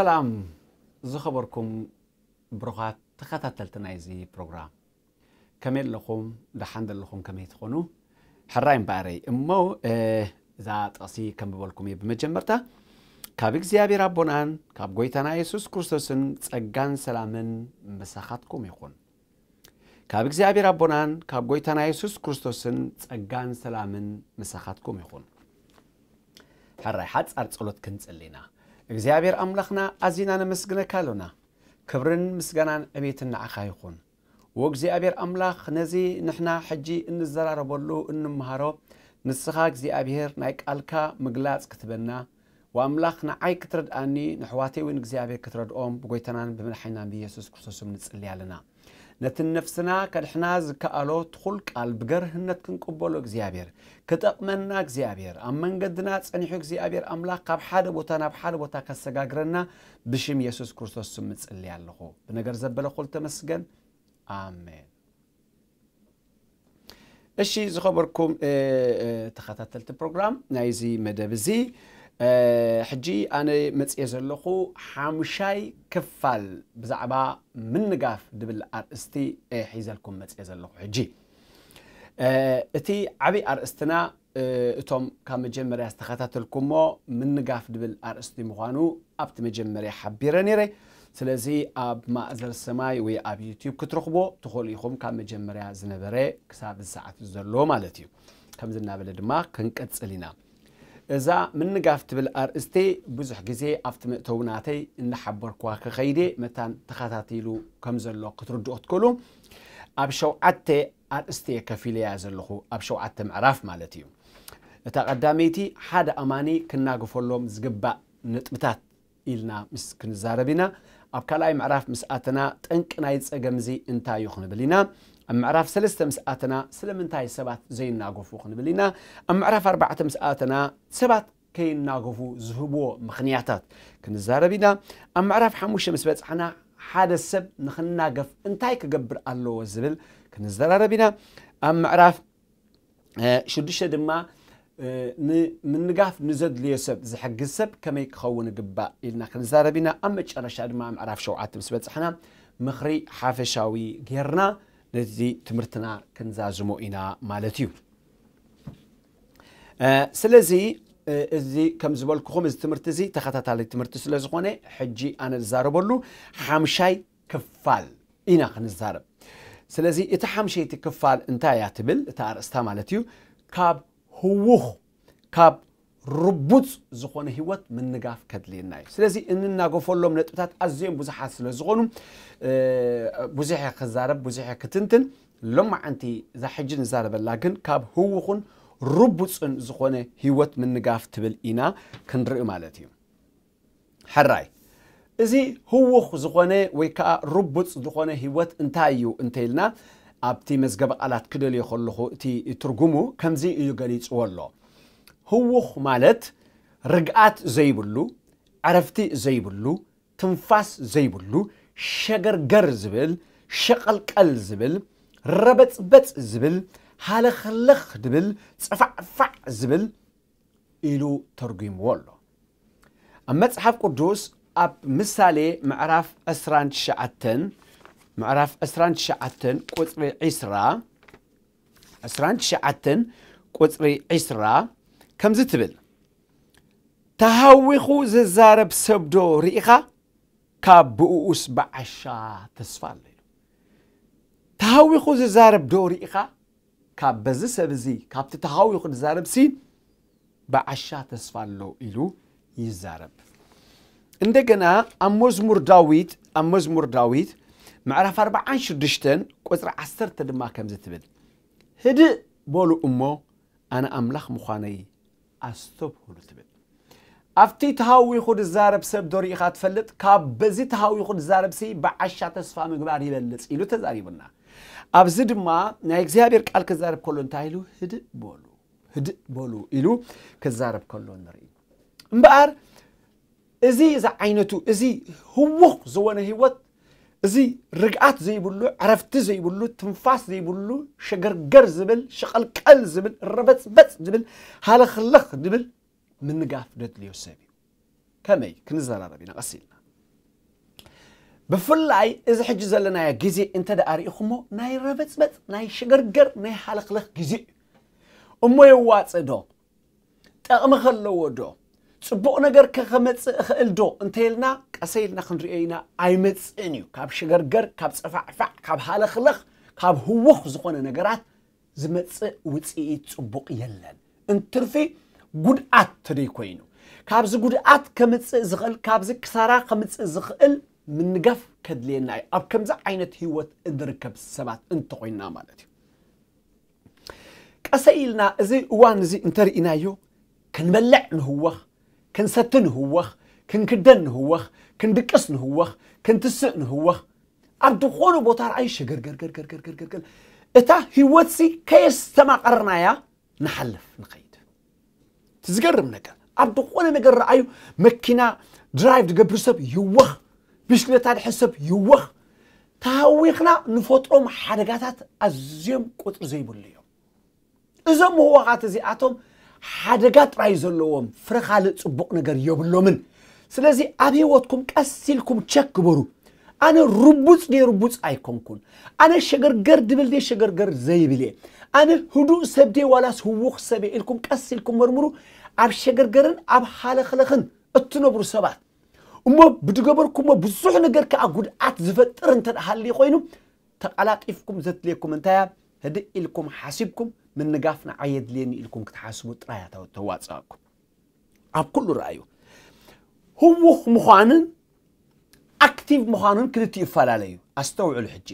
ሰላም ዝኸበርኩም ብሩኻት ተኸታተልቲ ናይዚ ፕሮግራም፣ ከመይ ኣለኹም? ደሓን ዘለኹም ከመይ ትኾኑ? ሕራይ እምበኣረይ እሞ፣ እ፣ እዛ ጥቕሲ ከንብበልኩም እየ። ብመጀመርታ፣ ካብ እግዚኣብሔር ኣቦናን ካብ ጐይታና የሱስ ክርስቶስን ጸጋን ሰላምን ምሳኻትኩም ይኹን። ካብ እግዚኣብሔር ኣቦናን ካብ ጐይታና የሱስ ክርስቶስን ጸጋን ሰላምን ምሳኻትኩም ይኹን። ሕራይ ሓጻር ጸሎት ክንጽሊ ኢና። እግዚኣብሔር ኣምላኽና፣ ኣዚና ነመስግነካ ኣሎና። ክብርን ምስጋናን ዕቤትን ንዓኻ ይኹን። ወእግዚኣብሔር ኣምላኽ፣ ነዚ ንሕና ሕጂ እንዘራረበሉ እንምሃሮ፣ ንስኻ እግዚኣብሔር ናይ ቃልካ ምግላጽ ክትበና፣ ወኣምላኽ ንዓይ ክትረድኣኒ፣ ንኣሕዋተይ እውን እግዚኣብሔር ክትረድኦም፣ ብጎይታናን ብመድሓኒናን ብኢየሱስ ክርስቶስ ስም ንጽሊ ኣለና። ነቲ ነፍስና ከድሕና ዝከኣሎ ትኹል ቃል ብገርህነት ክንቅበሎ እግዚኣብሔር፣ ክጠቕመና እግዚኣብሔር፣ ኣብ መንገድና ጸኒሑ እግዚኣብሔር ኣምላኽ ካብ ሓደ ቦታ ናብ ሓደ ቦታ ከሰጋግረና ብሽም የሱስ ክርስቶስ ስም እጽሊ ኣለኹ። ብነገር ዘበለ ኩሉ ተመስገን። ኣሜን። እሺ፣ ዝኸበርኩም፣ እ፣ እ፣ ተኸታተልቲ ፕሮግራም ናይዚ መደብ እዚ፣ እ፣ ሕጂ ኣነ መጽየ ዘለኹ ሓሙሻይ ክፋል ብዛዕባ ምንጋፍ ድብል ኣርእስቲ፣ እ፣ ሒዘልኩም መጽየ ዘለኹ። ሕጂ፣ እ፣ እቲ ዓብዪ ኣርእስትና፣ እ፣ እቶም ካብ መጀመርያ ዝተኸታተልኩሞ ምንጋፍ ድብል ኣርእስቲ ምዃኑ ኣብቲ መጀመርያ ሓቢረ ነይረ። ስለዚ ኣብ ማእዘር ሰማይ ወይ ኣብ ዩትዩብ ክትረኽቦ ትኽእሉ ኢኹም፣ ካብ መጀመርያ ዝነበረ ክሳብ እዚ ሰዓት ዘሎ ማለት እዩ። ከምዚ እናበለ ድማ ክንቀጽል ኢና። እዛ ምንጋፍ ትብል ኣርእስቲ ብዙሕ ግዜ ኣብቲ መእተዊ ናተይ እናሓበርኩዋ ክኸይደ መታን ተኸታቲሉ ከም ዘሎ ክትርድኡ ክትክእሉ፣ ኣብ ሸውዓተ ኣርእስቲ እየ ከፊለያ ዘለኹ፣ ኣብ ሸውዓተ ምዕራፍ ማለት እዩ። እታ ቀዳመይቲ ሓደ ኣማኒ ክናገፈሎም ዝግባእ ነጥብታት ኢልና ምስ ክንዛረብ ኢና። ኣብ ካልኣይ ምዕራፍ ምስ ኣተና ጠንቂ ናይ ጸገም እዚ እንታይ እዩ ክንብል ኢና። ኣብ ምዕራፍ ሰለስተ ምስ ኣተና ስለምንታይ ሰባት ዘይናገፉ ክንብል ኢና። ኣብ ምዕራፍ ኣርባዕተ ምስ ኣተና ሰባት ከይናገፉ ዝህብዎ ምኽንያታት ክንዛረብ ኢና። ኣብ ምዕራፍ ሓሙሽተ ምስ በጻሕና ሓደ ሰብ ንኽናገፍ እንታይ ክገብር ኣለዎ ዝብል ክንዘራረብ ኢና። ኣብ ምዕራፍ እ፣ ሽዱሽተ ድማ፣ እ፣ ንምንጋፍ ንዘድልዮ ሰብ ዝሕግዝ ሰብ ከመይ ክኸውን ይግባእ ኢልና ክንዛረብ ኢና። ኣብ መጨረሻ ድማ ምዕራፍ ሸውዓተ ምስ በጻሕና ምኽሪ ሓፈሻዊ ጌርና ነዚ ትምህርትና ክንዛዝሞ ኢና ማለት እዩ። እ፣ ስለዚ፣ እ፣ እዚ ከም ዝበልኩኹም እዚ ትምህርቲ እዚ ተኸታታሊ ትምህርቲ ስለ ዝኾነ ሕጂ ኣነ ዝዛረበሉ ሓምሻይ ክፋል ኢና ክንዛረብ። ስለዚ እቲ ሓምሸይቲ ክፋል እንታይ እያ ትብል? እታ ኣርእስታ ማለት እዩ፣ ካብ ህዉኽ፣ ካብ ርቡጽ ዝኾነ ህይወት ምንጋፍ ከድልየና እዩ። ስለዚ እንናገፈሎም ነጥብታት ኣዝዮም ብዙሓት ስለ ዝኾኑ፣ እ፣ ብዙሕ እየ ክዛረብ፣ ብዙሕ እየ ክትንትን። ሎማዓንቲ እዛ ሕጂ ንዛረበላ ግን ካብ ህዉኽን ርቡጽን ዝኾነ ህይወት ምንጋፍ ትብል ኢና ክንርኢ ማለት እዩ። ሕራይ፣ እዚ ህዉኽ ዝኾነ ወይ ከዓ ርቡጽ ዝኾነ ህይወት እንታይ እዩ እንተኢልና፣ ኣብቲ መዝገበ ቃላት ክደልዮ ከለኹ እቲ ትርጉሙ ከምዚ እዩ ገሊጽዎ ኣሎ። ህዉኽ ማለት ርግኣት ዘይብሉ፣ ዕረፍቲ ዘይብሉ፣ ትንፋስ ዘይብሉ፣ ሸገርገር ዝብል፣ ሸቐልቀል ዝብል፣ ረበጽበጽ ዝብል፣ ሃለኽለኽ ዝብል፣ ጽፋዕፋዕ ዝብል ኢሉ ተርጒምዎ ኣሎ። ኣብ መጽሓፍ ቅዱስ ኣብ ምሳሌ ምዕራፍ ዕስራን ትሽዓተን፣ ምዕራፍ ዕስራን ትሽዓተን ቁጽሪ ዕስራ፣ ዕስራን ትሽዓተን ቁጽሪ ዕስራ ከምዚ ትብል፣ "ተሃዊኹ ዝዛረብ ሰብዶ ርኢኻ? ካብ ብእኡስ ብዓሻ ተስፋ ኣሎ" ኢሉ። ተሃዊኹ ዝዛረብ ዶ ርኢኻ? ካብ በዚ ሰብ እዚ፣ ካብቲ ተሃዊኹ ዝዛረብሲ ብዓሻ ተስፋ ኣሎ ኢሉ ይዛረብ። እንደገና ኣብ መዝሙር ዳዊት፣ ኣብ መዝሙር ዳዊት ምዕራፍ ኣርባዓን ሽዱሽተን ቁጽሪ ዓሰርተ ድማ ከምዚ ትብል፣ "ህድእ በሉ እሞ ኣነ ኣምላኽ ምዃነይ ኣስተብህሉ" ትብል። ኣብቲ ተሃዊኹ ዝዛረብ ሰብ ዶ ርኢኻ ትፈልጥ? ካብ በዚ ተሃዊኹ ዝዛረብሲ ብዓሻ ተስፋ ምግባር ይበልጽ ኢሉ ተዛሪቡና። ኣብዚ ድማ ናይ እግዚኣብሔር ቃል ክዛረብ ከሎ እንታይ ኢሉ? "ህድእ በሉ፣ ህድእ በሉ" ኢሉ ክዛረብ ከሎ ንርኢ። እምበኣር እዚ ዝዓይነቱ፣ እዚ ህዉኽ ዝኾነ ህይወት፣ እዚ ርግኣት ዘይብሉ፣ ዕረፍቲ ዘይብሉ፣ ትንፋስ ዘይብሉ፣ ሸገርገር ዝብል፣ ሸቐልቀል ዝብል፣ ረበጽበጽ ዝብል፣ ሃለኽለኽ ዝብል ምንጋፍ ደድልዮ ሰብ እዩ። ከመይ? ክንዘራረብ ኢና ቀስ ኢልና። ብፍላይ እዚ ሕጂ ዘለናዮ ግዜ እንተ ደኣ ርኢኹሞ፣ ናይ ረበጽበጽ፣ ናይ ሽገርገር፣ ናይ ሃለኽለኽ ግዜ እዩ። እሞ የዋጽእ ዶ? ጠቕሚ ከለዎ ዶ? ጽቡቕ ነገር ከ ከመጽእ እኽእል ዶ እንተ ኢልና፣ ቀሰ ኢልና ክንሪኦ ኢና። ኣይመጽእን እዩ። ካብ ሽገርገር፣ ካብ ጸፋዕፋዕ፣ ካብ ሃለኽለኽ፣ ካብ ህውኽ ዝኾነ ነገራት ዝመጽእ ውጽኢት ጽቡቕ የለን። እንትርፊ ጉድኣት ተደይ ኮይኑ፣ ካብዚ ጉድኣት ከምጽእ ዝኽእል፣ ካብዚ ክሳራ ከምጽእ ዝኽእል ምንጋፍ ከድልየና እዩ፣ ኣብ ከምዚ ዓይነት ህይወት እንርከብ ሰባት እንተኾይንና ማለት እዩ። ቀሰ ኢልና እዚ እዋን እዚ እንተርኢናዮ፣ ክንበልዕ ንህወኽ፣ ክንሰቲ ንህወኽ፣ ክንክደን ንህወኽ፣ ክንድቅስ ንህወኽ፣ ክንትስእ ንህወኽ። ኣብ ዝኾነ ቦታ ረኣዩ ሸገርገርገርገርገርገርገር፣ እታ ህይወትሲ ከየስተማቐርናያ ንሓልፍ ንኸይድ። እቲ ዝገርም ነገር፣ ኣብ ዝኾነ ነገር ረኣዩ፣ መኪና ድራይቭ ዝገብር ሰብ ይወኽ፣ ብሽክለታ ድሕዝ ሰብ ይወኽ። ተሃዊኽና ንፈጥሮም ሓደጋታት ኣዝዮም ቁፅሪ ዘይብሉ እዮም። እዞም ምህዋኻት እዚኣቶም ሓደጋ ጥራይ ዘለዎም፣ ፍረ ካልእ ጽቡቕ ነገር የብሎምን። ስለዚ ኣብ ህይወትኩም ቀስ ኢልኩም ቸክ ግበሩ። ኣነ ርቡጽ ድየ ርቡጽ ኣይኮንኩን? ኣነ ሸገርገር ድብል ድየ ሸገርገር ዘይብል እየ? ኣነ ህዱእ ሰብ ድየ ዋላስ ህዉኽ ሰብ እየ ኢልኩም ቀስ ኢልኩም መርምሩ። ኣብ ሸገርገርን ኣብ ሃለኽለኽን እትነብሩ ሰባት እሞ ብድገበርኩሞ ብዙሕ ነገር ከኣ ጉድኣት ዝፈጥር እንተ ደኣ ሃልዩ ኮይኑ፣ ተቐላጢፍኩም ዘድልየኩም እንታይ እያ? ህድእ ኢልኩም ሓሲብኩም፣ ምንጋፍ ንዓይ የድልየኒ ኢልኩም ክትሓስቡ ጥራይ እያ ተው-፣ ተዋጽኣኩም። ኣብ ኩሉ ረኣዩ። ህዉኽ ምዃንን ኣክቲቭ ምዃኑን ክልቲኡ ይፈላለዩ። ኣስተውዕሉ ሕጂ።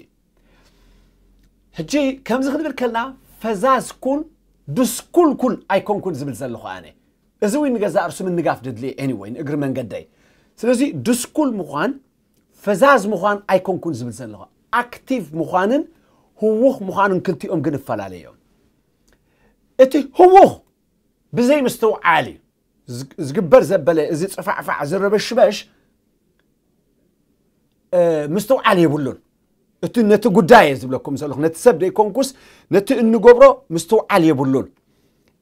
ሕጂ ከምዚ ክንብል ከለና፣ ፈዛዝ ኩን፣ ድስኩል ኩን ኣይኮንኩን ዝብል ዘለኹ ኣነ። እዚ እውን ንገዛእ ርእሱ ምንጋፍ ድድሊ፣ ኤኒወይ፣ ንእግሪ መንገደይ። ስለዚ ድስኩል ምዃን፣ ፈዛዝ ምዃን ኣይኮንኩን ዝብል ዘለኹ። ኣክቲቭ ምዃንን ህዉኽ ምዃንን ክልቲኦም ግን ይፈላለዩ እዮም። እቲ ህዉኽ ብዘይ ምስትውዓል እዩ። ዝግ-፣ ዝግበር ዘበለ እዚ ጽፋዕፋዕ ዝረበሽበሽ፣ እ፣ ምስትውዓል የብሉን። እቲ ነቲ ጉዳይ እየ ዝብለኩም ዘለኹ፣ ነቲ ሰብ ደይኮንኩስ ነቲ እንገብሮ ምስትውዓል የብሉን።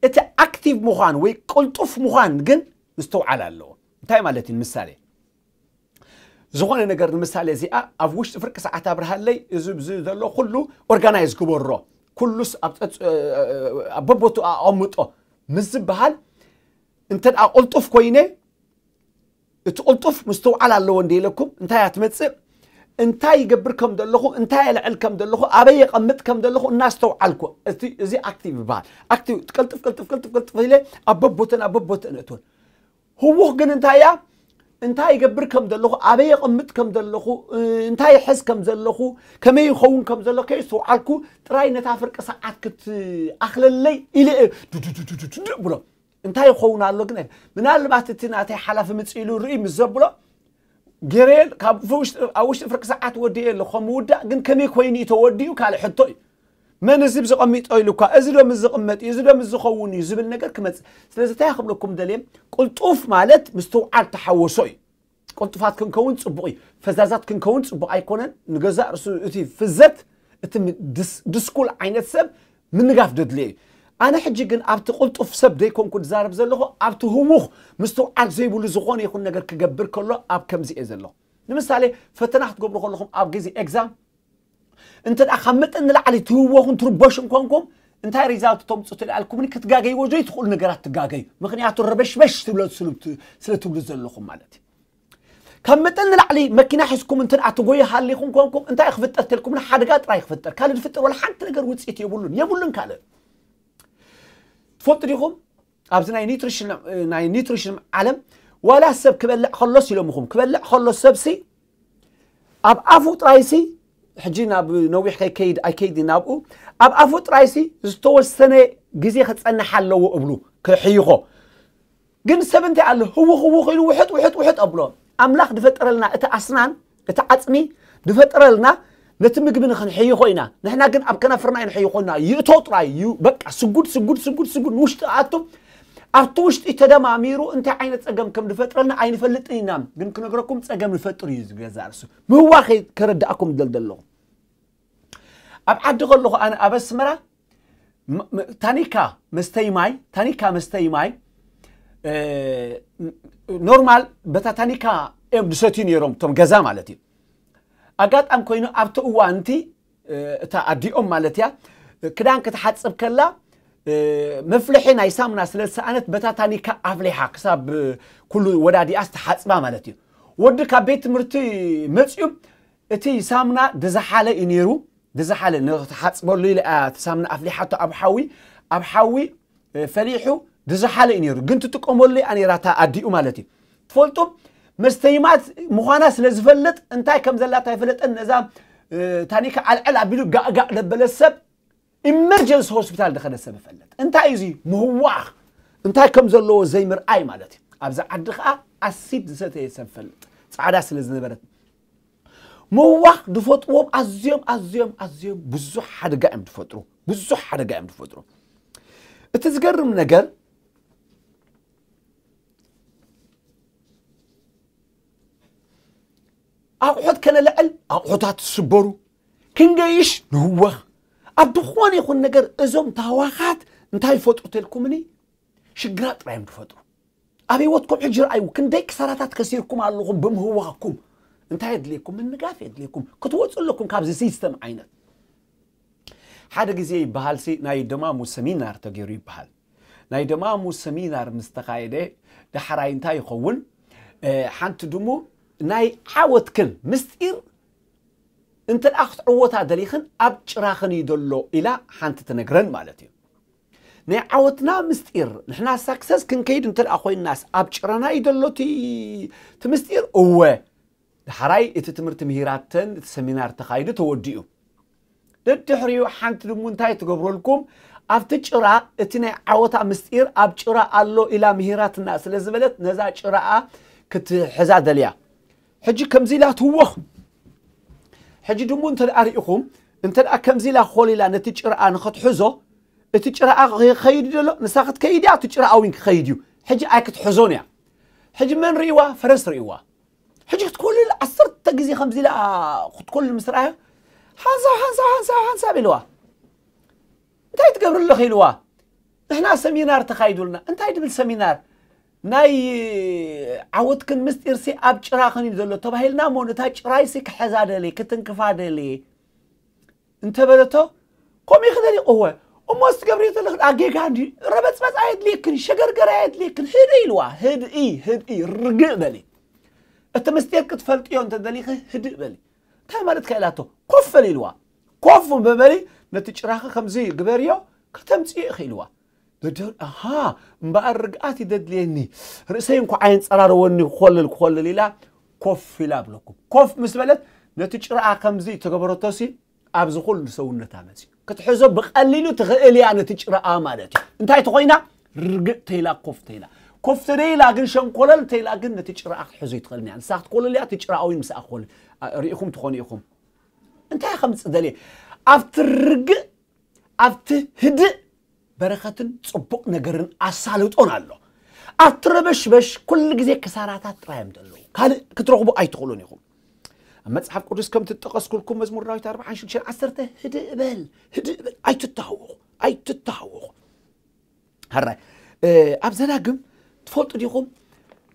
እቲ ኣክቲቭ ምዃን ወይ ቅልጡፍ ምዃን ግን ምስትውዓል ኣለዎ። እንታይ ማለት እዩ? ንምሳሌ፣ ዝኾነ ነገር ንምሳሌ እዚኣ ኣብ ውሽጢ ፍርቂ ሰዓት ኣብርሃለይ፣ እዚ ብዚ ዘሎ ኩሉ ኦርጋናይዝ ግበሮ፣ ኩሉስ ኣብ ጸጽ-፣ ኣብ በቦቱ ኣቐምጦ ምስ ዝበሃል፣ እንተ ደኣ ቅልጡፍ ኮይነ፣ እቲ ቅልጡፍ ምስትውዓል ኣለዎ እንደ ኢለኩም፣ እንታይ እያ ትመጽእ? እንታይ ይገብር ከም ዘለኹ፣ እንታይ የልዕል ከም ዘለኹ፣ ኣበይ የቐምጥ ከም ዘለኹ እናስተውዓልኩ፣ እቲ፣ እዚ ኣክቲቭ ይበሃል። ኣክቲቭ፣ ቅልጥፍ፣ ቅልጥፍ፣ ቅልጥፍ፣ ቅልጥፍ ኢለ ኣብ በቦተን፣ ኣብ በቦተን እእትወን። ህዉኽ ግን እንታይ እያ? እንታይ ይገብር ከም ዘለኹ፣ ኣበይ የቐምጥ ከም ዘለኹ፣ እ፣ እንታይ ይሕዝ ከም ዘለኹ፣ ከመይ ይኸውን ከም ዘሎ ከየስተውዓልኩ ጥራይ ነታ ፍርቂ ሰዓት ክትኣኽለለይ ኢለ እየ ዱዱዱዱዱዱ ብሎ። እንታይ ይኸውን ኣሎ ግን? ምናልባት እቲ ናተይ ሓላፊ ምጽእ ኢሉ ርኢ ምስ ዘብሎ፣ ገይረየ ካብ ውሽጢ፣ ኣብ ውሽጢ ፍርቂ ሰዓት ወዲኤ ኣለኹ። ከም ምውዳእ ግን ከመይ ኮይኑ እዩ ተወዲኡ ካልእ ሕቶ እዩ። መን እዚ ብዝቐሚጦ ኢሉ እኳ፣ እዚ ዶ ምስ ዝቕመጥ እዩ፣ እዚ ዶ ምስ ዝኸውን እዩ ዝብል ነገር ክመጽእ። ስለዚ እንታይ ክብለኩም ደልየ፣ ቅልጡፍ ማለት ምስትውዓል ተሓወሶ እዩ። ቅልጡፋት ክንከውን ጽቡቕ እዩ። ፈዛዛት ክንከውን ጽቡቕ ኣይኮነን። ንገዛእ ርእሱ እቲ ፍዘት፣ እቲ ም-፣ ድስ-፣ ድስኩል ዓይነት ሰብ ምንጋፍ ደድልዮ እዩ። ኣነ ሕጂ ግን ኣብቲ ቅልጡፍ ሰብ ደይኮንኩ ዝዛረብ ዘለኹ፣ ኣብቲ ህዉኽ ምስትውዓል ዘይብሉ ዝኾነ ይኹን ነገር ክገብር ከሎ ኣብ ከምዚ እየ ዘለኹ። ንምሳሌ፣ ፈተና ክትገብሩ ከለኹም ኣብ ግዜ ኤግዛም፣ እንተ ደኣ ካብ መጠን ንላዕሊ ትህወኹን ትርበሹን ኮንኩም፣ እንታይ ሪዛልት ተምጽኡ ትልኣልኩምኒ? ክትጋገይዎ ዘይትኽእሉ ነገራት ትጋገዩ። ምኽንያቱ ረበሽበሽ ትብሎ-፣ ስሉ-፣ ስለ ትብሉ ዘለኹም ማለት እዩ። ካብ መጠን ንላዕሊ መኪና ሒዝኩም እንተ ደኣ ትጎዩ ሃሊኹም ኮንኩም፣ እንታይ ክፍጠር ተልኩምኒ? ሓደጋ ጥራይ ክፍጠር። ካልእ ዝፍጠር ወላ ሓንቲ ነገር ውጽኢት የብሉን። የብሉን ካልእ። ትፈልጡ ዲኹም? ኣብዚ ናይ ኒትሪሽን፣ ናይ ኒትሪሽን ዓለም ዋላ ሰብ ክበልዕ ከሎስ ኢሎምኹም፣ ክበልዕ ከሎ ሰብሲ ኣብ ኣፉ ጥራይሲ፣ ሕጂ ናብ ነዊሕ ከይከይድ ኣይከይድ ናብኡ፣ ኣብ ኣፉ ጥራይሲ ዝተወሰነ ግዜ ክጸንሕ ኣለዎ እብሉ፣ ክሕይኾ። ግን ሰብ እንታይ ኣሎ? ህውኽ ህውኽ ኢሉ ውሕጥ ውሕጥ ውሕጥ ኣብሎ። ኣምላኽ ዝፈጠረልና እቲ ኣስናን፣ እቲ ዓጽሚ ዝፈጠረልና ነቲ ምግቢ ንኽንሕይኾ ኢና። ንሕና ግን ኣብ ከናፍርና ኣይንሕይኾና። ይእቶ ጥራይ እዩ። በቃ ስጉድ፣ ስጉድ፣ ስጉድ፣ ስጉድ ንውሽጢ ኣቱ። ኣብቲ ውሽጢ ተደማሚሩ እንታይ ዓይነት ጸገም ከም ዝፈጥረልና ኣይንፈልጥን ኢና። ግን ክነግረኩም ጸገም ንፈጥር እዩ ዝገዛእ ርእሱ። ምህዋኸይ ከረድኣኩም ዝደል ዘለኹ። ኣብ ዓዲ ከለኹ ኣነ ኣብ ኣስመራ ም-፣ ም-፣ ታኒካ መስተይ ማይ፣ ታኒካ መስተይ ማይ፣ እ፣ ኖርማል በታ ታኒካ እዮም ዝሰትዩ ነይሮም፣ እቶም ገዛ ማለት እዩ። ኣጋጣሚ ኮይኑ ኣብቲ እዋን እቲ እታ ኣዲኦም ማለት እያ ክዳን ክትሓፅብ ከላ መፍልሒ ናይ ሳሙና ስለ ዝሰኣነት በታ ታኒካ ኣፍሊሓ ክሳብ ኩሉ ወዳዲኣስ ትሓፅባ ማለት እዩ። ወዲ ካብ ቤት ትምህርቲ መፅዩ እቲ ሳሙና ድዝሓለ እዩ ነይሩ። ድዝሓለ ንክትሓፅበሉ ኢለ እቲ ሳሙና ኣፍሊሓቶ ኣብ ሓዊ ኣብ ሓዊ ፈሊሑ ድዝሓለ እዩ ነይሩ። ግን ትጥቀመሉ እያ ነይራ እታ ኣዲኡ ማለት እዩ። ትፈልጡ መስተይማት ምዃና ስለ ዝፈልጥ እንታይ ከም ዘላታ ይፈለጠን ነዛ ታኒካ ዓልዕል ኣቢሉ ጋእጋእ ለበለ ሰብ ኢመርጀንሲ ሆስፒታል ዝኸደ ሰብ ይፈልጥ። እንታይ እዩ እዚ ምህዋኽ እንታይ ከም ዘለዎ ዘይምርኣይ ማለት እዩ። ኣብዚ ዓዲ ከዓ ኣሲድ ዝሰተየ ሰብ ፈልጥ ፃዕዳ ስለ ዝነበረት ምህዋኽ ዝፈጥዎም ኣዝዮም ኣዝዮም ኣዝዮም ብዙሕ ሓደጋ እዮም ዝፈጥሩ። ብዙሕ ሓደጋ እዮም ዝፈጥሩ። እቲ ዝገርም ነገር ኣቑሑት ከነልዕል ኣቑሑታት ዝስበሩ ክንገይሽ ንህወኽ። ኣብ ዝኾነ ይኹን ነገር እዞም ታዋኻት እንታይ ይፈጥሩ ተልኩምኒ ሽግራት ጥራይ እዮም ዝፈጥሩ። ኣብ ህይወትኩም ሕጂ ረኣዩ ክንደይ ክሳራታት ከሲርኩም ኣለኹም ብምህዋኽኩም። እንታይ የድልየኩም? ምንጋፍ የድልየኩም። ክትወፁ ኣለኩም ካብዚ ሲስተም ዓይነት። ሓደ ግዜ ይበሃል ሲ ናይ ደማሙ ሰሚናር ተገይሩ ይበሃል። ናይ ደማሙ ሰሚናር ምስ ተኻየደ ዳሕራይ እንታይ ይኸውን? ሓንቲ ድሙ ናይ ዓወትክን ምስጢር እንተ ደኣ ክትዕወታ ደሊኽን ኣብ ጭራኽን እዩ ዘሎ ኢላ ሓንቲ ትነግረን ማለት እዩ። ናይ ዓወትና ምስጢር ንሕና ሳክሰስ ክንከይድ እንተ ደኣ ኮይንናስ ኣብ ጭራና እዩ ዘሎ እቲ እቲ ምስጢር እወ። ዳሕራይ እቲ ትምህርቲ ምሂራተን እቲ ሰሚናር ተኻይዱ ተወዲኡ። ደድሕሪኡ ሓንቲ ድሙ እንታይ ትገብረልኩም ኣብቲ ጭራ እቲ ናይ ዓወታ ምስጢር ኣብ ጭራ ኣሎ ኢላ ምሂራትና ስለ ዝበለት ነዛ ጭራኣ ክትሕዛ ደልያ። ሕጂ ከምዚ ኢላ ትህወኽ። ሕጂ ድሙ እንተ ደኣ ርኢኹም እንተ ደኣ ከምዚ ኢላ ኮል ኢላ ነቲ ጭራኣ ንኽትሕዞ እቲ ጭራኣ ክኸይድ ደሎ ንሳ ክትከይድ እያ እቲ ጭራኣ እውን ክኸይድ እዩ። ሕጂ ኣይክትሕዞን እያ። ሕጂ መን ርእይዋ? ፈረስ ርእይዋ። ሕጂ ክትኮልል ዓሰርተ ግዜ ከምዚ ኢላ ክትኮልል ምስ ረኣያ ሓንሳብ ሓንሳብ ሓንሳብ ሓንሳብ ኢልዋ። እንታይ ትገብሪ ኣለኺ ኢልዋ። ንሕና ሰሚናር ተኻይዱልና። እንታይ ድብል ሰሚናር? ናይ ዓወትክን ምስጢርሲ ኣብ ጭራኽን እዩ ዘሎ ተባሂልና እሞ ነታ ጭራይሲ ክሕዛ ደልየ ክትንክፋ ደልየ እንተበለቶ ከምኡ ክደሊ እወ እሞ ዝትገብርዮ ዘለኽን ኣጌጋ እንዲ ረበፅበፅ ኣየድልየክን ሸገርገር ኣየድልየክን ህድእ ኢልዋ ህድኢ ህድኢ ርግእ በሊ እቲ ምስጢር ክትፈልጥዮ እንተደሊኺ ህድእ በሊ እንታይ ማለት ከ ኢላቶ ኮፍ በሊ ኢልዋ ኮፍ በበሊ ነቲ ጭራኺ ከምዚ ግበርዮ ከተምፅዮ ኢኺ ኢልዋ ደደር ኣሃ እምበኣር ርግኣት ይደድልየኒ ርእሰይ እንኳ ኣየንፀራረወኒ ክኾልል ክኾልል ኢላ ኮፍ ኢላ ብለኩም ኮፍ ምስ በለት ነቲ ጭራኣ ከምዚ ተገበረቶሲ ኣብዚ ኩሉ ሰውነታ መፅዩ ክትሕዞ ብቐሊሉ ትኽእል እያ ነቲ ጭራኣ ማለት እዩ እንታይ ተኾይና ርግእ ተይላ ኮፍ ተይላ ኮፍ ተደይላ ግን ሸንኮለል ተይላ ግን ነቲ ጭራኣ ክትሕዞ ይትኽእል እያ ንሳ ክትኮልል እያ እቲ ጭራኣ ወይ ምስኣ ክኾልል ርኢኹም ትኾኑ ኢኹም እንታይ ከምፅእ ደልየ ኣብቲ ርግእ ኣብቲ ህድእ በረኸትን ፅቡቕ ነገርን ኣሳልጦን ኣሎ ኣብቲ ረበሽበሽ ኩሉ ግዜ ክሳራታት ጥራይ እዮም ዘለዉ ካልእ ክትረኽቡ ኣይትኽእሉን ኢኹም ኣብ መፅሓፍ ቅዱስ ከም ትጠቐስኩልኩም መዝሙር ዳዊት ኣርባዓን ሽዱሽተን ዓሰርተ ህድእ በል ህድእ በል ኣይትተሃወኹ ኣይትተሃወኹ ሃራይ ኣብ ዘዳግም ትፈልጡ ዲኹም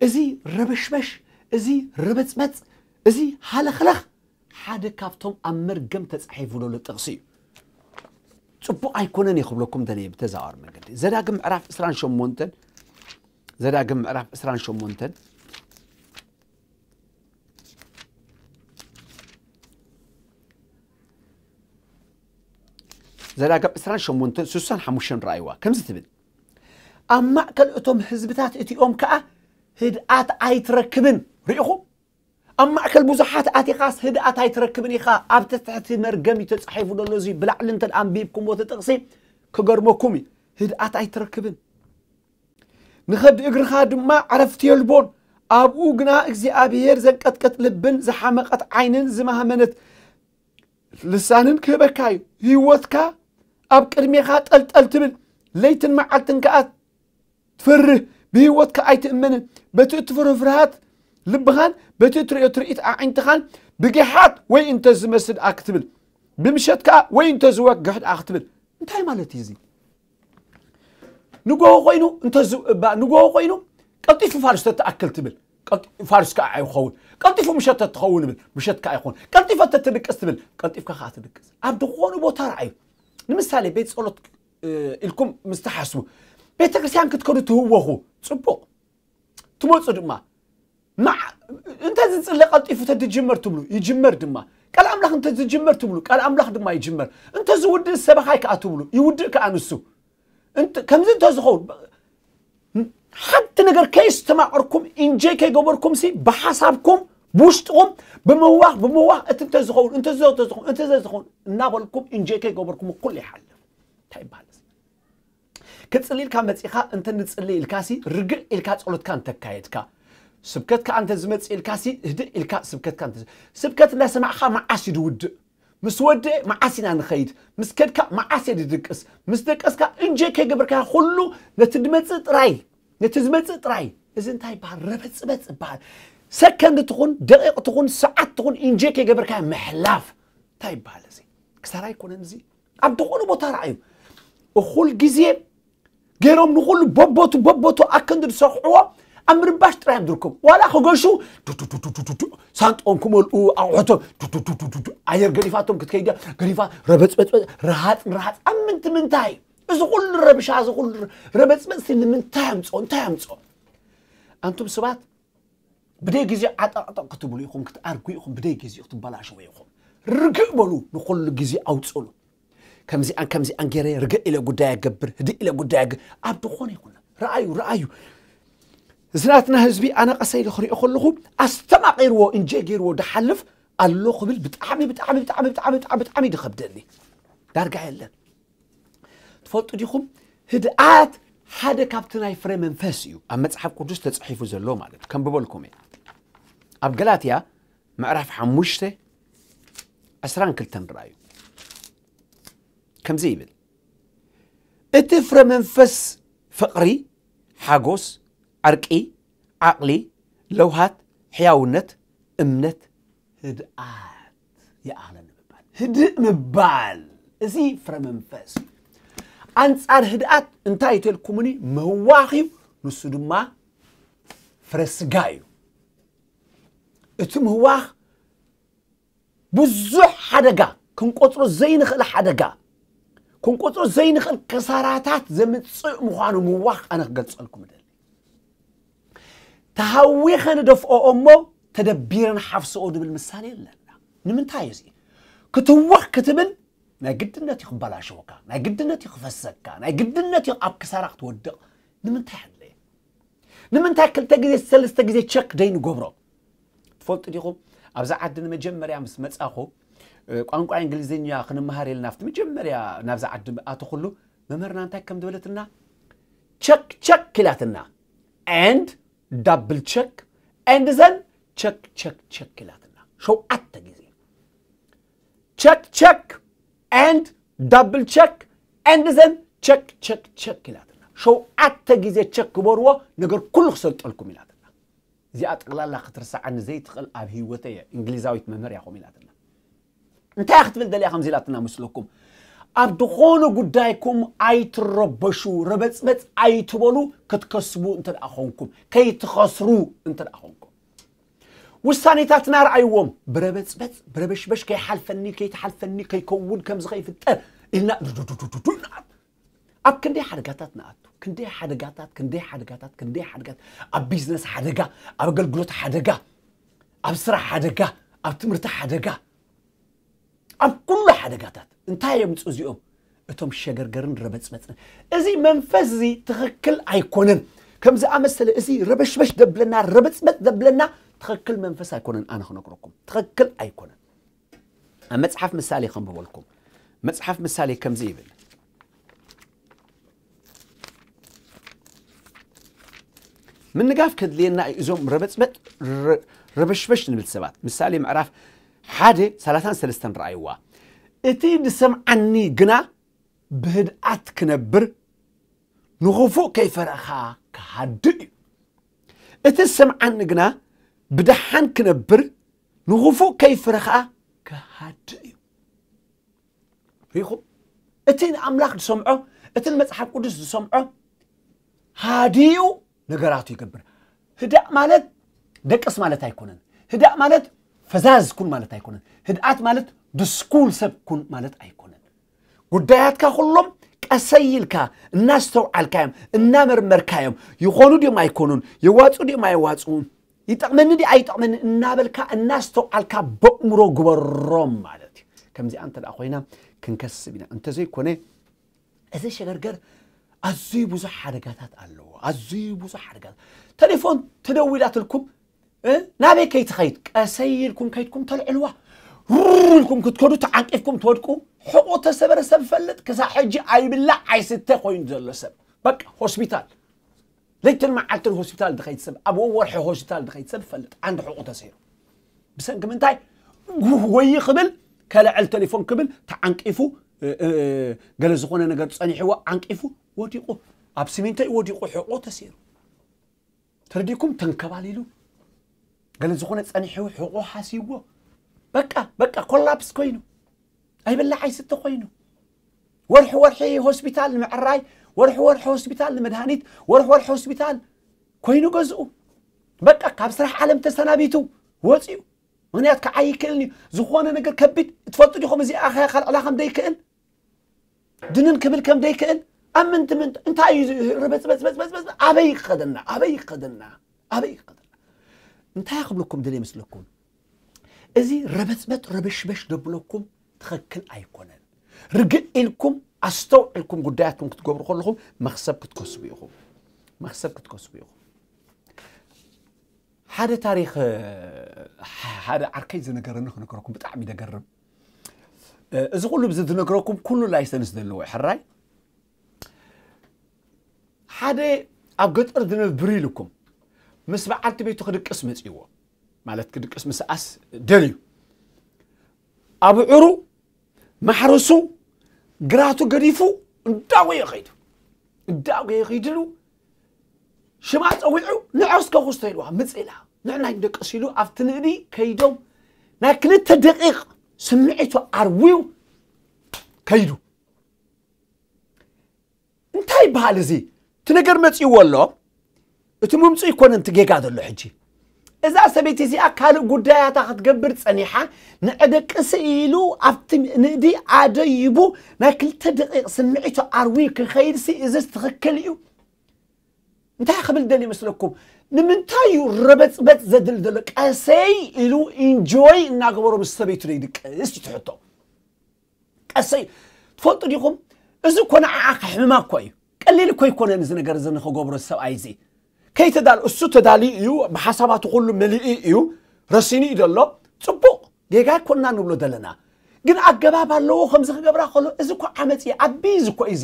እዚ ረበሽበሽ እዚ ርብፅበፅ እዚ ሃለኽለኽ ሓደ ካብቶም ኣብ መርገም ተፃሒፉ ዘሎ ጥቕሲ እዩ ፅቡቕ ኣይኮነን ይኽብለኩም ደለየ ብተዛዋር መገዲ ዘዳግም ምዕራፍ ዕስራን ሸሞንተን ዘዳግም ምዕራፍ ዕስራን ሸሞንተን ዘዳግም ዕስራን ሸሞንተን ስሳን ሓሙሽተን ረኣይዋ ከምዚ ትብል ኣብ ማእከል እቶም ህዝብታት እቲኦም ከኣ ህድኣት ኣይትረክብን ርኢኹም ኣብ ማእከል ብዙሓት ኣቲኻስ ህድኣት ኣይትረክብን ኢኻ ኣብቲ ትሕቲ መርገም እዩ ተጻሒፉ ዘሎ እዚ ብላዕሊ እንተ ኣንቢብኩምዎ እቲ ጥቕሲ ክገርመኩም እዩ ህድኣት ኣይትረክብን ንኸብዲ እግርኻ ድማ ዕረፍቲ የልቦን ኣብኡ ግና እግዚኣብሔር ዘንቀጥቀጥ ልብን ዝሓመቐት ዓይንን ዝማህመነት ልሳንን ክህበካ እዩ ህይወትካ ኣብ ቅድሜኻ ጠልጠል ትብል ለይትን መዓልትን ከኣ ትፈርህ ብህይወትካ ኣይትእመንን በቲ እትፈርሆ ፍርሃት ልብኻን በቲ እትርእዮ ትርኢት ኣዒንትኻን ብጊሓት ወይ እንተ ዝመስል ደኣ ክትብል ብምሸት ከኣ ወይ እንተ ዝወግሕ ደኣ ክትብል እንታይ ማለት እዩ እዚ ንጎሆ ኮይኑ እንተ ንጎሆ ኮይኑ ቀልጢፉ ፋልስቶ ትኣክል ትብል ቀልጢ- ፋርስ ከዓ ኣይኸውን። ቀልጢፉ ምሸት ትኸውን ብል፣ ምሸት ከዓ ኣይኸውን። ቀልጢፈ ተትድቅስ ትብል፣ ቀልጢፍካ ከዓ ትድቅስ። ኣብ ዝኾነ ቦታ ረኣዩ። ንምሳሌ ቤት ጸሎት እ፣ ኢልኩም ምስ ትሓስቡ፣ ቤተ ክርስቲያን ክትከዱ ትህወኹ፣ ጽቡቕ። ትመጹ ድማ፣ መዓ-፣ እንተ ዝጽለ ቀልጢፉ ተትጅመር ትብሉ፣ ይጅመር ድማ። ቃል ኣምላኽ እንተ ዝጅመር ትብሉ፣ ቃል ኣምላኽ ድማ ይጅመር። እንተ ዝውድእ ሰበኻይ ከኣ ትብሉ፣ ይውድእ ከኣ ንሱ። እንተ-፣ ከምዚ እንተ ዝኸውን፣ ሓንቲ ነገር ከይስተማቐርኩም፣ ኢንጆይ ከይገበርኩም ሲ፣ ብሓሳብኩም፣ ብውሽጥኹም፣ ብምዋኽ፣ ብምዋኽ፣ እቲ እንተ ዝኸውን፣ እንተ ዝኸውን፣ እንተ ዝኸውን፣ እናበልኩም፣ ኢንጆይ ከይገበርኩም፣ ኩሉ ይሓልፍ። እንታይ ይበሃል እዚ? ክጽሊ ኢልካ መጺኻ፣ እንተ ንጽሊ ኢልካ ሲ፣ ርግእ ኢልካ ጸሎትካ እንተካየድካ፣ ስብከት ከኣ እንተ ዝመጽእ ኢልካ ሲ፣ ህድእ ኢልካ ስብከትካ እንተ-፣ ስብከት እንዳሰማዕኻ መዓስ እዩ ዝውድእ? ምስ ወድአ መዓስ ኢና ንኸይድ? ምስ ከድካ መዓስ እየ ዝድቅስ? ምስ ደቀስካ እንጆይ ከይገበርካ ኩሉ ነቲ ዝመጽእ ጥራይ፣ ነቲ ዝመጽእ ጥራይ። እዚ እንታይ ይበሃል? ረበጽበጽ ይበሃል። ሰከንድ ትኹን፣ ደቂቕ ትኹን፣ ሰዓት ትኹን፣ እንጆይ ከይገበርካ ምሕላፍ። እንታይ ይበሃል እዚ? ክሳራ ኣይኮነን እዚ? ኣብ ዝኾነ ቦታ ረኣዩ። እኹል ግዜ ገይሮም ንኹሉ በቦቱ በቦቱ ኣከንዲ ዝሰርሕዎ ኣብ ምርባሽ ጥራይ እዮም ዝርከቡ። ዋላ ክገሹ ዱዱዱዱዱዱ ሳንጦም ክመልኡ ኣቑሑቶም ዱዱዱዱዱ ኣየር ገዲፋቶም ክትከይድ እያ። ገዲፋ ረበጽበጽበጽ ረሃጽ ረሃጽ ኣብ ምንቲ ምንታይ? እዚ ኩሉ ረብሻ፣ እዚ ኩሉ ረበጽበጽ ንምንታይ ኣምጽኦ? እንታይ ኣምጽኦ? ኣንቱም ሰባት ብደይ ግዜ ዓጠቕጠቕ ክትብሉ ኢኹም፣ ክትኣርጉ ኢኹም፣ ብደይ ግዜ ክትበላሸው ኢኹም። ርግእ በሉ፣ ንኹሉ ግዜ ኣውጽሉ። ከምዚኣን ከምዚኣን ገይረ ርግእ ኢለ ጉዳይ ኣገብር፣ ህድእ ኢለ ጉዳይ ኣገ-፣ ኣብ ዝኾነ ይኹን። ረኣዩ፣ ረኣዩ። እዚ ናትና ህዝቢ ኣነ ቀሰ ኢለ ክሪኦ ከለኹ ኣስተማቒርዎ፣ እንጀ ገይርዎ ድሓልፍ ኣሎ ክብል ብጣዕሚ፣ ብጣዕሚ፣ ብጣዕሚ፣ ብጣዕሚ፣ ብጣዕሚ፣ ብጣዕሚ ድኸብደኒ። ዳርጋ የለን። ትፈልጡ ዲኹም? ህድኣት ሓደ ካብቲ ናይ ፍረ መንፈስ እዩ። ኣብ መጽሓፍ ቅዱስ ተጻሒፉ ዘሎ ማለት እዩ። ከንብበልኩም እየ። ኣብ ገላትያ ምዕራፍ ሓሙሽተ ዕስራን ክልተን ረኣዩ። ከምዚ ይብል፣ እቲ ፍረ መንፈስ ፍቕሪ፣ ሓጎስ፣ ዕርቂ፣ ዓቕሊ፣ ለውሃት፣ ሕያውነት፣ እምነት፣ ህድኣት ይኣኽለኒ ምባል። ህድእ ምባል፣ እዚ ፍረ መንፈስ እዩ። ኣንጻር ህድኣት እንታይ እዩ ተልኩምኒ? ምህዋኽ እዩ፣ ንሱ ድማ ፍረ ስጋ እዩ። እቲ ምህዋኽ ብዙሕ ሓደጋ፣ ክንቆጽሮ ዘይንኽእል ሓደጋ፣ ክንቆጽሮ ዘይንኽእል ከሳራታት ዘምጽእ ምዃኑ ምህዋኽ ኣነ ክገልጸልኩም እደሊ። ተሃዊኸ ንደፍኦ እሞ ተደቢረ ንሓፍስኦ ድብል ምሳሌ ኣለና። ንምንታይ እዩ እዚ? ክትወኽ ክትብል ናይ ግድነት እዩ ክበላሸወካ፣ ናይ ግድነት እዩ ክፈሰካ፣ ናይ ግድነት እዩ ኣብ ክሳራ ክትወድቕ። ንምንታይ ኣድለየ? ንምንታይ ክልተ ግዜ ሰለስተ ግዜ ቸክ ደይንገብሮ? ትፈልጡ ዲኹም? ኣብዚ ዓዲ ንመጀመርያ ምስ መጻኹ፣ እ፣ ቋንቋ እንግሊዝኛ ክንመሃር ኢልና ኣብቲ መጀመርያ ናብዚ ዓዲ ኣተኹሉ መምህርና እንታይ ከም ዝበለትና፣ ቸክ ቸክ ኢላትና፣ and double check and then ቸክ ቸክ ቸክ ኢላትና ሸውዓተ ግዜ። ቸክ ቸክ and double check and then ቸክ ቸክ ቸክ ኢላትና ሸውዓተ ግዜ ቸክ ግበርዎ፣ ነገር ኩሉ ክሰልጠልኩም ኢላትና። እዚኣ ጠቕላላ ክትርሰዓኒ ዘይትኽእል ኣብ ህይወተይ እየ። እንግሊዛዊት መምህር እያ ከምኡ ኢላትና። እንታይ ክትብል ደልያ ከምዚ ኢላትና መስለኩም? ኣብ ዝኾነ ጉዳይኩም ኣይትረበሹ፣ ረበጽበጽ ኣይትበሉ፣ ክትከስቡ እንተ ደኣ ኾንኩም፣ ከይትኸስሩ እንተ ደኣ ኾንኩም። ውሳኔታትና ረኣይዎም፣ ብረበጽበጽ፣ ብረበሽበሽ፣ ከይሓልፈኒ፣ ከይትሓልፈኒ፣ ከይከውን፣ ከምዚ ከይፍጠር ኢልና ዱዱዱዱዱ ንኣቱ። ኣብ ክንደይ ሓደጋታት ንኣቱ፣ ክንደይ ሓደጋታት፣ ክንደይ ሓደጋታት፣ ክንደይ ሓደጋታት፣ ኣብ ቢዝነስ ሓደጋ፣ ኣብ ኣገልግሎት ሓደጋ፣ ኣብ ስራሕ ሓደጋ፣ ኣብ ትምህርቲ ሓደጋ፣ ኣብ ኩሉ ሓደጋታት። እንታይ የምጽኡ እዚኦም? እቶም ሸገርገርን ረበጽበጽን። እዚ መንፈስ እዚ ትኽክል ኣይኮነን። ከም ዝኣመሰለ እዚ ረበሽበሽ ደብለና፣ ረበጽበጽ ደብለና ትኽክል መንፈስ ኣይኮነን። ኣነ ክነግረኩም፣ ትኽክል ኣይኮነን። ኣብ መጽሓፍ ምሳሌ ከንብበልኩም። መጽሓፍ ምሳሌ ከምዚ ይብል። ምንጋፍ ከድልየና እዩ እዞም ረበጽበጥ ረ-፣ ረበሽበሽ ንብል ሰባት። ምሳሌ ምዕራፍ ሓደ ሰላሳን ሰለስተን ረኣይዋ። እቲ ዝሰምዓኒ ግና ብህድኣት ክነብር፣ ንኽፉእ ከይፈርኻ ክሃድእ እዩ። እቲ ዝሰምዓኒ ግና ብደሓን ክነብር፣ ንኽፉእ ከይፈርኻ ክሃድእ እዩ። ሪኹም? እቲ ንኣምላኽ ዝሰምዖ፣ እቲ ንመጽሓፍ ቅዱስ ዝሰምዖ ሃዲኡ ነገራቱ ይገብር። ህዳእ ማለት ደቅስ ማለት ኣይኮነን። ህዳእ ማለት ፈዛዝ ኩን ማለት ኣይኮነን። ህድኣት ማለት ድስኩል ሰብ ኩን ማለት ኣይኮነን። ጉዳያትካ ኩሎም ቀሰይ ኢልካ እናስተውዓልካዮም እናመርመርካዮም፣ ይኾኑ ድዮም ኣይኮኑን፣ የዋፁ ድዮም ኣይዋፅኡን፣ ይጠቕመኒ ዲ ኣይጠቕመኒ እናበልካ እናስተውዓልካ በእምሮ ግበሮም ማለት እዩ። ከምዚኣ እንተ ደኣ ኮይና ክንከስብ ኢና። እንተዘይኮነ እዚ ሸገርገር ኣዝዩ ብዙሕ ሓደጋታት ኣለዎ። ኣዝዩ ብዙሕ ሓደጋታት። ቴሌፎን ተደዊላትልኩም፣ እ? ናበይ ከይትኸይድ? ቀሰይ ኢልኩም ከይድኩም ተልዕልዋ። ሩር ኢልኩም ክትከዱ ተዓንቂፍኩም ትወድቁ። ሕቑ ተሰበረ ሰብ ፈልጥ፣ ክሳብ ሕጂ ኣይብላዕ ኣይስተ ኮይኑ ዘሎ ሰብ። በቃ ሆስፒታል። ለይትን መዓልትን ሆስፒታል ድኸይድ ሰብ፣ ኣብ ወርሒ ሆስፒታል ድኸይድ ሰብ ፈልጥ። ዓንዲ ሕቑ ተሰይሩ። ብሰንኪ ምንታይ? ጉህ ወይ ክብል ከልዕል ቴሌፎን ክብል ተዓንቂፉ፣ እ፣ እ፣ ገለ ዝኾነ ነገር ጸኒሕዎ ዓንቂፉ ወዲቑ። ኣብ ሲሚንቶ እዩ ወዲቑ፣ ሕቑ ተሰይሩ። ተረዲኩም ተንከባሊሉ። ገለ ዝኾነ ጸኒሕዎ ሕቑ ሓሲዎ። በቃ፣ በቃ ኮላፕስ ኮይኑ። ኣይብላዕ ኣይስተ ኮይኑ። ወርሒ ወርሒ ሆስፒታል ንምዕራይ፣ ወርሒ ወርሒ ሆስፒታል ንመድሃኒት፣ ወርሒ ወርሒ ሆስፒታል ኮይኑ ገዝኡ። በቃ ካብ ስራሕ ዓለም ተሰናቢቱ ወፂኡ። ምክንያት ክዓይ ይክእልን እዩ። ዝኾነ ነገር ከቢድ ትፈልጡ ዲኹም? እዚ ኣኸያ ካልዕላ ከም ደይክእል፣ ድንን ክብል ከም ደይክእል፣ ኣብ ምንቲ ምንቲ እንታይ እዩ ርበፅበፅበፅበፅበፅ ኣበይ ይኸደና? ኣበይ ይኸደና? ኣበይ ይኸደና? እንታይ ክብለኩም ደልየ መስለኩም? እዚ ረበፅበጥ ረበሽበሽ ደብለኩም ትኽክል ኣይኮነን። ርግእ ኢልኩም ኣስተውዕልኩም ጉዳያትኩም ክትገብሩ ከለኹም መኽሰብ ክትከስቡ ኢኹም። መኽሰብ ክትከስቡ ኢኹም። ሓደ ታሪኽ፣ እ፣ ሓደ ዓርከይ ዝነገረኒ ክነገረኩም፣ ብጣዕሚ ደገርም። እ፣ እዚ ኩሉ ብዚ ዝነግረኩም ኩሉ ላይሰንስ ዘለዎ እዩ፣ ሕራይ። ሓደ ኣብ ገጠር ዝነብር ኢልኩም ምስ በዓልቲ ቤቱ ክድቅስ መጺዎ፣ ማለት ክድቅስ ምስኣስ ደልዩ፣ ኣብዕሩ ማሕረሱ ግራቱ ገዲፉ እንዳጎየ ኸይዱ። እንዳጎየ ኸይድሉ ሽማ ጸዊዑ፣ "ንዑ እስከ ኩስቶ" ኢልዋ። ምጽእ ኢላ። ንዕና ይደቅስ ኢሉ ኣብቲ ንእዲ ከይዶም ናይ ክልተ ደቂቕ ስምዒቱ ኣርውዩ ከይዱ። እንታይ ይበሃል እዚ? እቲ ነገር መጺእዎ ኣሎ። እቲ ምምጽኡ ኣይኮነን እቲ ጌጋ ዘሎ ሕጂ። እዛ ሰበይቲ እዚኣ ካልእ ጉዳያታ ክትገብር ጸኒሓ፣ ንዕደቅሲ ኢሉ ኣብቲ ንእዲ ኣደይቡ ናይ ክልተ ደቂቕ ስምዒቱ ኣርዊ ክኸይድሲ፣ እዝስ ትኽክል እዩ? እንታይ ክብል ደልዩ ይመስለኩም? ንምንታይ እዩ ረበጽበጽ ዘድል ዘሎ? ቀሰይ ኢሉ ኢንጆይ እናገበሮ ምስ ሰበይቱ ደይድቅስ እዩ ትሕቶ። ቀሰይ፣ ትፈልጡ ዲኹም? እዚ እኮ ንዓኣ ከሕምማ እኮ እዩ። ቀሊል እኮ ኣይኮነን እዚ ነገር እዚ ንኽገብሮ ሰብኣይ እዚ። ከይተዳል-፣ እሱ ተዳልዩ እዩ፣ ብሓሳባቱ ኩሉ መሊኡ እዩ፣ ረሲኑ እዩ ዘሎ። ጽቡቕ፣ ጌጋ ኣይኮንና ንብሎ ዘለና። ግን ኣገባብ ኣለዎ ከምዚ ክገብራ ከሎ፣ እዚ እኮ ዓመጽ እዩ፣ ዓቢ እዚ እኮ እዩ እዚ።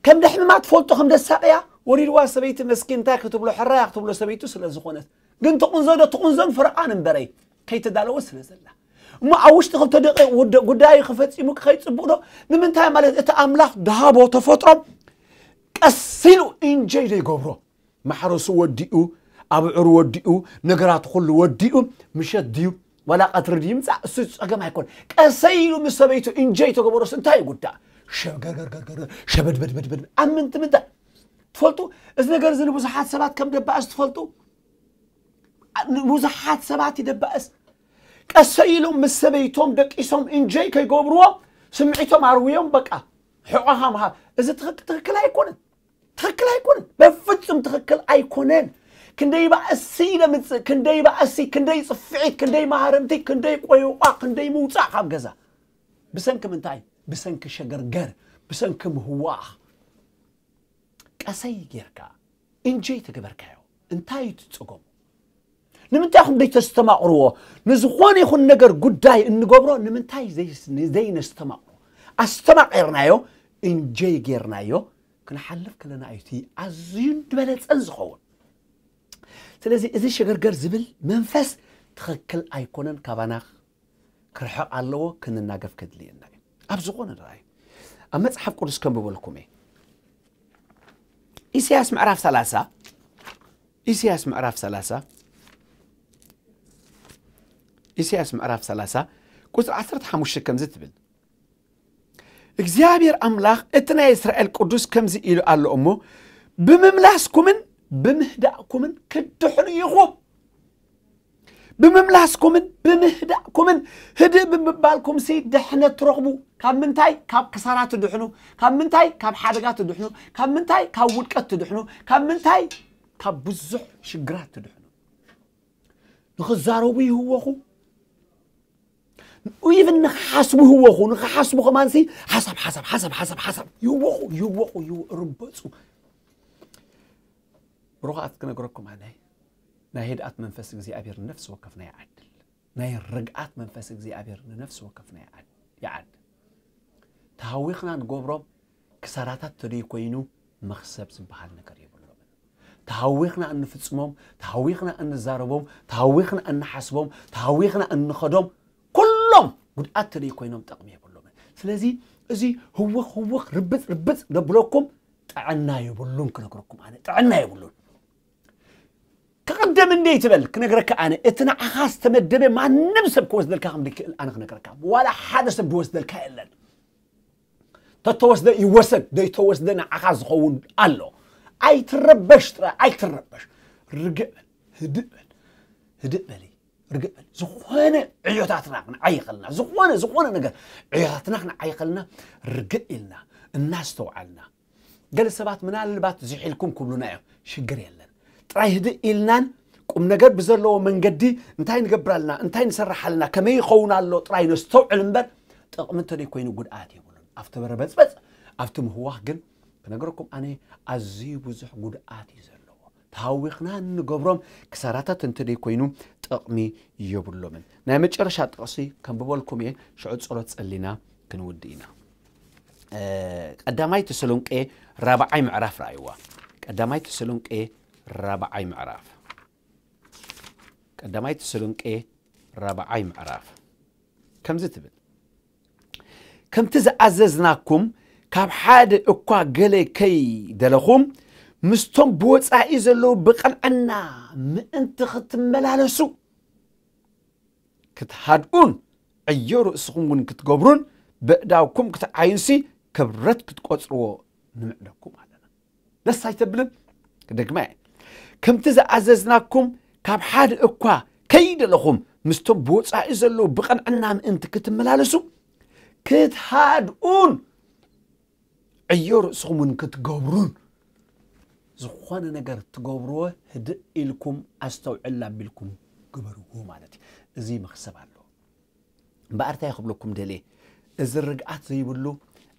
ከም ደሕምማ ትፈልጦ፣ ከም ደሳቀያ ወሪድዋ ሰበይቲ መስኪን እንታይ ክትብሎ፣ ሕራያ ክትብሎ ሰበይቱ ስለ ዝኾነት። ግን ትቕንዞ ዶ ትቕንዞን ፈረቓን እምበረይ፣ ከይተዳለወ ስለ ዘላ። እሞ ኣብ ውሽጢ ክልተ ደቂቕ ውደ-፣ ጉዳዩ ክፈጺሙ ክኸይድ ጽቡቕ ዶ? ንምንታይ ማለት እቲ ኣምላኽ ድሃቦ ተፈጥሮ ቀስ ኢሉ ኢንጆይ ዘይገብሮ? ማሕረሱ ወዲኡ፣ ኣብዕሩ ወዲኡ፣ ነገራቱ ኩሉ ወዲኡ፣ ምሸት ድዩ ዋላ ቀትሪ ድዩ ይምጻእ፣ እሱ ጸገም ኣይኮን። ቀሰይ ኢሉ ምስ ሰበይቱ ኢንጆይ ተገበሮስ እንታይ ይጉዳእ? ሸገርገርገርገር፣ ሸበድበድበድበድ፣ ኣብ ምንቲ ምንታይ? ትፈልጡ፣ እዚ ነገር እዚ ንብዙሓት ሰባት ከም ደባእስ ትፈልጡ? ንብዙሓት ሰባት ይደባእስ። ቀሰይ ኢሎም ምስ ሰበይቶም ደቂሶም ኢንጆይ ከይገብርዎ ስምዒቶም ኣርውዮም በቃ ሕቖኻ ምሃብ። እዚ ትኽክ-፣ ትኽክል ኣይኮነን። ትኽክል ኣይኮነን። በፍጹም ትኽክል ኣይኮነን። ክንደይ ባእሲ ለምጽእ፣ ክንደይ ባእሲ፣ ክንደይ ጽፍዒት፣ ክንደይ ማህረምቲ፣ ክንደይ ቆይቋ፣ ክንደይ ምውጻእ ካብ ገዛ። ብሰንኪ ምንታይ? ብሰንኪ ሸገርገር፣ ብሰንኪ ምህዋኽ። ቀሰይ ጌርካ ኢንጆይ ተገበርካዮ። እንታይ እዩ እቲ ጸገሙ? ንምንታይ ኢኹም ዘይተስተማቕርዎ? ንዝኾነ ይኹን ነገር ጉዳይ እንገብሮ ንምንታይ ዘይስ-፣ ዘይነስተማቕሮ? ኣስተማቒርናዮ፣ ኢንጆይ ጌርናዮ፣ ክንሓልፍ ከለና እዩ እቲ ኣዝዩን ዝበለጸን ዝኸውን። ስለዚ እዚ ሸገርገር ዝብል መንፈስ ትኽክል ኣይኮነን፣ ካባና ክርሕቕ ኣለዎ፣ ክንናገፍ ከድልየና እዩ። ኣብ ዝኾነ ረኣዩ ኣብ መጽሓፍ ቅዱስ ከንብበልኩም እየ። ኢሳያስ ምዕራፍ ሰላሳ፣ ኢሳያስ ምዕራፍ ሰላሳ፣ ኢሳያስ ምዕራፍ ሰላሳ ቁጽሪ ዓሰርተ ሓሙሽተ ከምዚ ትብል፣ እግዚኣብሔር ኣምላኽ እቲ ናይ እስራኤል ቅዱስ ከምዚ ኢሉ ኣሎ እሞ፣ ብምምላስኩምን ብምህዳእኩምን ክትድሕኑ ኢኹም። ብምምላስኩምን ብምህዳእኩምን ህድእ ብምባልኩም ሲ ድሕነት ትረኽቡ። ካብ ምንታይ? ካብ ክሳራ ትድሕኑ። ካብ ምንታይ? ካብ ሓደጋ ትድሕኑ። ካብ ምንታይ? ካብ ውድቀት ትድሕኑ። ካብ ምንታይ? ካብ ብዙሕ ሽግራት ትድሕኑ። ንኽዛረቡ ይህወኹ። ኢቭን ንኽሓስቡ ይህወኹ። ንኽሓስቡ ከማንሲ ሓሳብ ሓሳብ ሓሳብ ሓሳብ ሓሳብ ይህወኹ ይህወኹ ይህወ ርበፁ። ብሩኻት ክነግረኩም ኣነ ናይ ህድኣት መንፈስ እግዚኣብሔር ንነፍሲ ወከፍና ይዓድል። ናይ ርግኣት መንፈስ እግዚኣብሔር ንነፍሲ ወከፍና ይዓድ ይዓድ። ተሃዊኽና ንገብሮም ክሳራታት ተደይ ኮይኑ መኽሰብ ዝበሃል ነገር የብሎምን። ተሃዊኽና እንፍጽሞም፣ ተሃዊኽና እንዛረቦም፣ ተሃዊኽና እንሓስቦም፣ ተሃዊኽና እንኸዶም ኩሎም ጉድኣት ተደይ ኮይኖም ጠቕሚ የብሎምን። ስለዚ እዚ ህውኽ ህውኽ ርብጽ ርብጽ ደብለኩም ጥዕና የብሉን። ክነግረኩም ኣነ ጥዕና የብሉን። ክቕደም እንደ ይትበል ክነግረካ ኣነ እቲ ንዓኻ ዝተመደበ ማንም ሰብ ክወስደልካ ከም ዘይክእል ኣነ ክነግረካ። ዋላ ሓደ ሰብ ዝወስደልካ የለን። ተተወስደ ይወሰድ ዘይተወስደ ንዓኻ ዝኸውን ኣሎ። ኣይትረበሽ ጥራይ ኣይትረበሽ። ርግእ በል ህድእ በል ህድእ በሊ ርግእ በል። ዝኾነ ዕዮታትና ክንዓይኸልና ዝኾነ ዝኾነ ነገር ዕዮታትና ክንዓይኸልና ርግእ ኢልና እናስተውዓልና ገለ ሰባት ምናልባት ዝሒልኩም ክብሉና እዮም። ሽግር የለን። ጥራይ ህድእ ኢልናን ቁም ነገር ብዘለዎ መንገዲ እንታይ ንገብር ኣለና እንታይ ንሰርሕ ኣለና ከመይ ይኸውን ኣሎ ጥራይ ነስተውዕል እምበር ጥቕሚ እንተደይ ኮይኑ ጉድኣት የብሉን። ኣብቲ በረበፅበፅ ኣብቲ ምህዋኽ ግን ክነግረኩም ኣነ ኣዝዩ ብዙሕ ጉድኣት እዩ ዘለዎ። ተሃዊኽና እንገብሮም ክሳራታት እንተደይ ኮይኑ ጥቕሚ የብሎምን። ናይ መጨረሻ ጥቕሲ ከንብበልኩም እየ ሽዑ ፀሎት ፀሊና ክንውድእ ኢና። ቀዳማይ ተሰሎንቄ ራብዓይ ምዕራፍ ረኣይዋ። ቀዳማይ ተሰሎንቄ ራብዓይ ምዕራፍ ቀዳማይ ተሰሎንቄ ራብዓይ ምዕራፍ ከምዚ ትብል፣ ከምቲ ዝኣዘዝናኩም ካብ ሓደ እኳ ገለ ከይደለኹም ምስቶም ብወጻኢ ዘለዉ ብቕንዕና ምእንቲ ክትመላለሱ ክትሃድኡን ዕዮ ርእስኹም እውን ክትገብሩን ብእዳውኩም ክትዓዩንሲ ክብረት ክትቆጽርዎ ንምዕደኩም ኣለና። ደስ ኣይተብልን? ክደግማ እየ። ከምቲ ዝኣዘዝናኩም ካብ ሓደ እኳ ከይደለኹም ምስቶም ብወጻኢ ዘለዉ ብቐንዕና ምእንቲ ክትመላለሱ ክትሃድኡን ዕዮ ርእስኹም እውን ክትገብሩን ዝኾነ ነገር ትገብርዎ ህድእ ኢልኩም ኣስተውዕል ኣቢልኩም ግበርዎ ማለት እዩ። እዚ መኽሰብ ኣለዎ። እምበኣር እንታይ ክብለኩም ደልየ፣ እዚ ርግኣት ዘይብሉ፣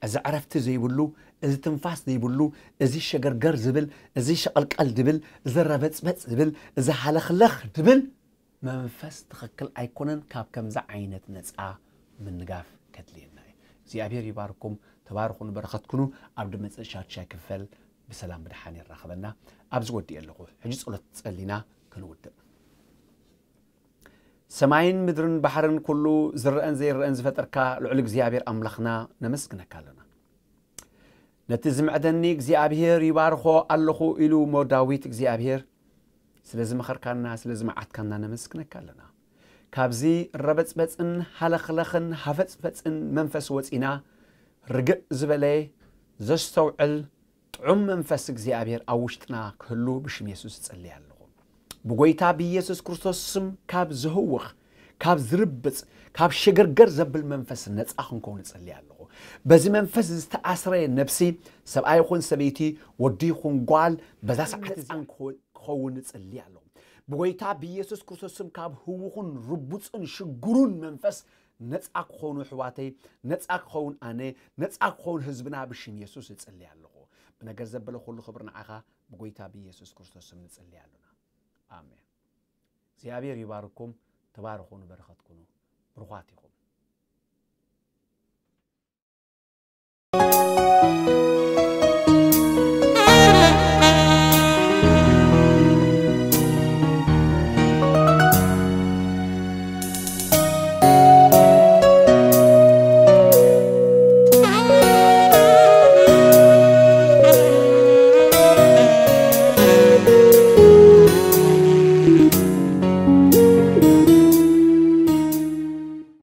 እዚ ዕረፍቲ ዘይብሉ፣ እዚ ትንፋስ ዘይብሉ፣ እዚ ሸገርገር ዝብል፣ እዚ ሸቐልቀል ድብል፣ እዚ ረበፅበፅ ዝብል፣ እዚ ሃለኽለኽ ድብል መንፈስ ትኽክል ኣይኮነን። ካብ ከምዚ ዓይነት ነፃ ምንጋፍ ከድልየና እዩ። እግዚኣብሔር ይባርኩም። ተባርኹ፣ ንበረኸት ኩኑ። ኣብ ድመፅእ ሻድሻይ ክፈል ብሰላም ብድሓን የራኽበና። ኣብዚ ወዲእ ኣለኹ። ሕጂ ጸሎት ጸሊና ክንውድእ። ሰማይን ምድርን ባሕርን ኩሉ ዝረአን ዘይረአን ዝፈጠርካ ልዑል እግዚኣብሔር ኣምላኽና ነመስግነካ ኣለና። ነቲ ዝምዕደኒ እግዚኣብሔር ይባርኾ ኣለኹ ኢሉ እሞ ዳዊት እግዚኣብሔር ስለ ዝመኸርካና ስለ ዝመዓትካና ነመስግነካ ኣለና። ካብዚ ረበጽበጽን ሃለኽለኽን ሃፈጽፈጽን መንፈስ ወጺና ርግእ ዝበለ ዘስተውዕል ጥዑም መንፈስ እግዚኣብሔር ኣብ ውሽጥና ክህሉ ብሽም የሱስ እጸሊ ኣለኹ። ብጎይታ ብኢየሱስ ክርስቶስ ስም ካብ ዝህውኽ ካብ ዝርብጽ ካብ ሸገርገር ዘብል መንፈስ ነጻ ክንከውን እጸሊ ኣለኹ። በዚ መንፈስ ዝተኣስረ ነብሲ ሰብኣይ ይኹን ሰበይቲ ወዲ ይኹን ጓል በዛ ሰዓት እዛን ክኸውን እጸሊ ኣለኹ። ብጎይታ ብኢየሱስ ክርስቶስ ስም ካብ ህውኹን ርቡጽን ሽግሩን መንፈስ ነጻ ክኾኑ ኣሕዋተይ፣ ነጻ ክኸውን ኣነ፣ ነጻ ክኸውን ህዝብና ብሽም የሱስ እጽሊ ኣለኹ። ብነገር ዘበለ ኩሉ ክብሪ ንዓኻ ብጎይታ ብኢየሱስ ክርስቶስ ስም ንጽሊ ኣሉና። ኣሜን። እግዚኣብሔር ይባርኩም። ተባረኹ፣ ንበረኸት ኩኑ። ብሩኻት ኢኹም።